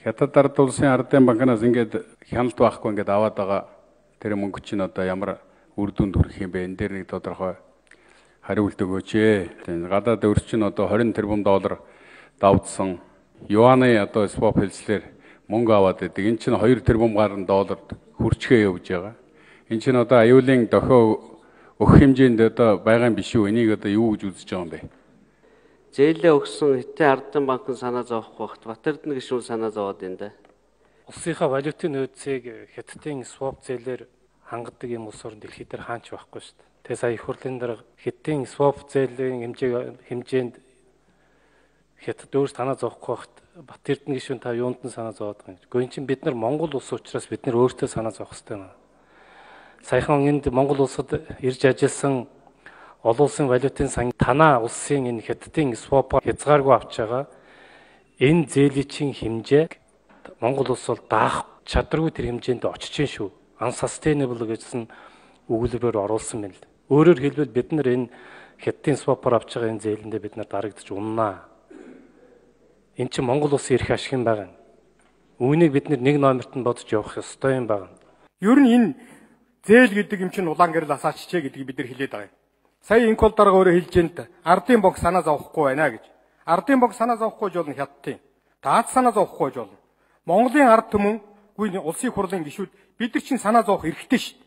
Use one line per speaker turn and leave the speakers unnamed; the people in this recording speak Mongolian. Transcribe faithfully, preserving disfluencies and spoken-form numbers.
Хятад ард улсын ардын банкнаас ингээд хяналт байхгүй ингээд аваад байгаа тэр мөнгө чинь одоо ямар үр дүнд хүрэх юм бэ? Энэ дээр нэг тодорхой хариулт өгөөч ээ. Тийм гадаад өрс чинь одоо двадцать тэрбум доллар давдсан. Юаны одоо swap хэлслэр мөнгө аваад байдаг. Энэ чинь two тэрбум гаруй долларт хүрчгээ явж байгаа. Энэ чинь одоо аюулын дохио өгөх хэмжээнд одоо байгаа юм биш үү? Энийг одоо юу гэж үзэж байгаа юм бэ?
Зээлээ өгсөн Хятадын ардын банк санаа зовох багт Батэрдэн гишүүн санаа зовоод энэ.
Улсынхаа валютын нөөцийг Хятадын swap зээлээр хангадаг юм улс орн дэлхийд дээр хаач байхгүй шүү дээ. Тэгээ сая их хурлын дараа Хятадын swap зээлийн хэмжээ хэмжээнд Хятад өөр санаа зовхгүй багт Батэрдэн гишүүн та юунд нь санаа зовоод байгаа юм. Гэхдээ эн чинь бид нар Монгол улс учраас бид нар өөртөө санаа зовох хэрэгтэй байна. Саяхан энд Монгол улсад ирж ажилласан олон улсын валютын сан танаа улсын энэ Хятадын swap хязгааргүй авч байгаа энэ зээлийн хэмжээ Монгол улс бол даах чадваргүй тэр хэмжээнд очиж гин шүү. Unsustainable гэсэн өгүүлбэрээр оруулсан байна л. Өөрөөр хэлбэл бид нар энэ Хятадын swap-аар авч байгаа энэ зээлэндээ бид нар дарагдчих уннаа. Энэ чинь Монгол улсын эрх ашиг юм байна. Үүнийг бид нар нэг номерт нь бодож явах ёстой юм байна.
Ер нь энэ зээл гэдэг юм чинь улаан гэрэл асааччээ гэдгийг бид нар хэлээд байгаа юм. Сая инкол дарга өөрөө хэлж энэ ардын банк санаа зовхгүй байна гэж. Ардын банк санаа зовхгүй жолно Хятадын. Таад санаа зовхгүй жолно. Монголын ард түмэн гүн улсын хурлын гишүүд бид нар чинь санаа зовох эрхтэй шүү.